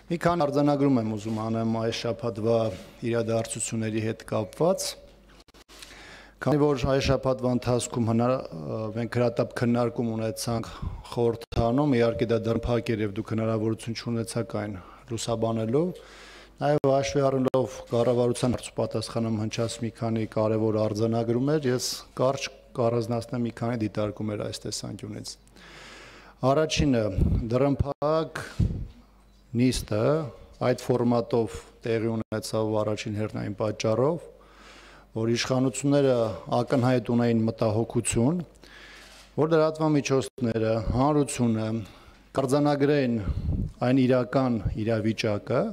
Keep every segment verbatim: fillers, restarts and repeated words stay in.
Մի քանի արձանագրում եմ ուզում անեմ այս շաբաթվա իրադարձությունների հետ կապված, քանի որ այս շաբաթվա ընթացքում մենք հրատապ քննարկում ունեցանք խորհրդարանում, իհարկե դա դրամփակ էր եւ դուք հնարավորություն չունեցաք այն լուսաբանելու, նաեւ հաշվի առնելով կառավարության պատասխանում հնչած մի քանի կարևոր արձանագրումներ, ես կարճ կառանձնացնեմ մի քանի դիտարկումներ այս տեսանկյունից։ Առաջինը դրամփակ նիստը այդ ֆորմատով տեղի ունեցավ առաջին հերթին պատճառով, որ իշխանությունները ակնհայտ ունեին մտահոգություն, որ լրատվամիջոցները, հանրությունը կարձանագրեն այն իրական իրավիճակը,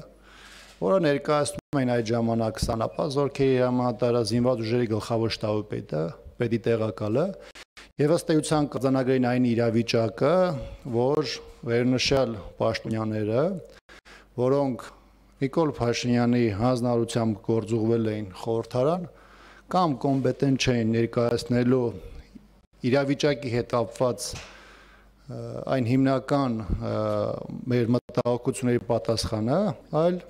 որը ներկայացնում էին այդ ժամանակ Սանապա զորքերի հրամանատարը, զինված ուժերի գլխավոր շտաբի պետը, պետի տեղակալը, եւ ըստ էության կարձանագրեն այն իրավիճակը, որ վերնշյալ պաշտոնյաները, որոնք Նիկոլ Փաշինյանի հանձնարարությամբ գործուղվել էին խորհրդարան, կամ կոմպետենտ չէին ներկայացնելու իրավիճակի հետ կապված այն հիմնական մեր մտահոգությունների պատասխանը, այլ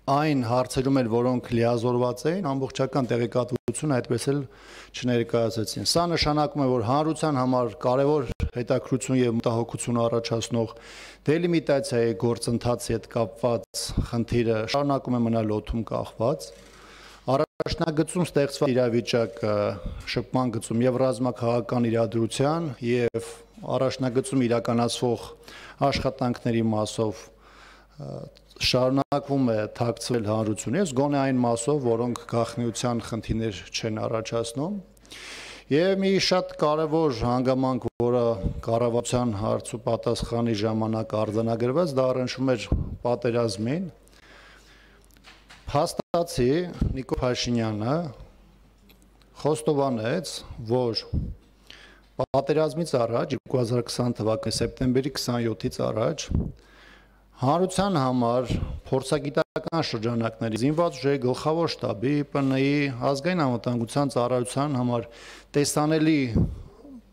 այն հարցերում էլ, որոնք լիազորված էին, ամբողջական տեղեկատվություն այդպես էլ չներկայացեցին։ Սա նշանակում է, որ հանրության համար կարևոր հետաքրքրություն եւ մտահոգություն առաջացնող դելիմիտացիայի գործընթացի հետ կապված խնդիրը շարունակում է մնալ օդում կախված։ Առաջնագծում ստեղծված իրավիճակը շփման գծում եւ ռազմաքաղաքական իրադրության եւ առաջնագծում իրականացվող աշխատանքների մասով շարունակվում է թաքցվել հանրությունից, գոնե այն մասով, որոնք գաղտնիության խնդիրներ չեն առաջացնում։ Եվ մի շատ կարևոր հանգամանք, որը կառավարության հարց ու պատասխանի ժամանակ արձանագրված, դա առնչվում էր պատերազմին։ Փաստացի Նիկոլ Փաշինյանը խոստովանեց, որ պատերազմից առաջ, երկու հազար քսան թվականի սեպտեմբերի քսանյոթից առաջ հանրության համար փորձագիտական շրջանակների զինված ուժերի գլխավոր շտաբի, Պ Ն ի ազգային անվտանգության ծառայության համար տեսանելի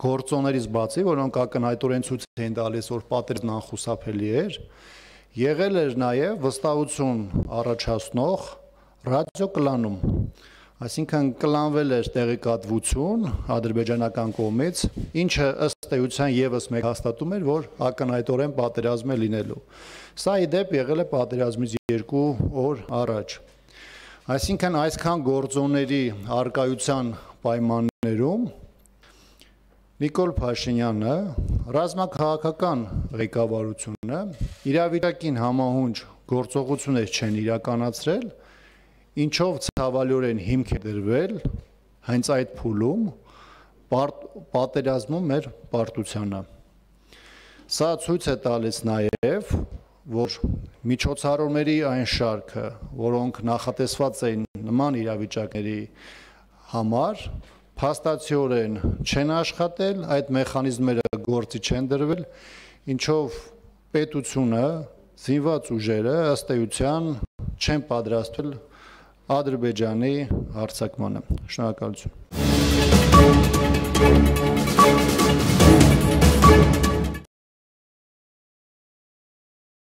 գործոններից բացի, որոնք ակնհայտորեն ցույց էին տալիս, որ պատերազմն անխուսափելի էր, եղել էր նաև վստահություն առաջացնող ռադիոկլանում, այսինքն կլանվել էր տեղեկատվություն ադրբեջանական կողմից, ինչը ըստ էության եւս մեկ հաստատում էր, որ ակնհայտորեն պատերազմ է լինելու։ Սա ի դեպ եղել է պատերազմից երկու օր առաջ։ Այսինքն այսքան գործոնների արկայության պայմաններում Նիկոլ Փաշինյանը, ռազմաքաղաքական ղեկավարությունը իրավիճակին համահունչ գործողություններ չեն իրականացրել, ինչով ցավալիորեն հիմք է դրվել հենց այդ փուլում պատերազմում մեր պարտությանը։ Սա ցույց է տալիս նաև, որ միջոցառումների այն շարքը, որոնք նախատեսված էին նման իրավիճակների համար, փաստացիորեն չեն աշխատել, այդ մեխանիզմները գործի չեն դրվել, ինչով պետությունը, զինված ուժերը ըստ էության չեն պատրաստվել Ադրբեջանի հարձակմանը։ Շնորհակալություն։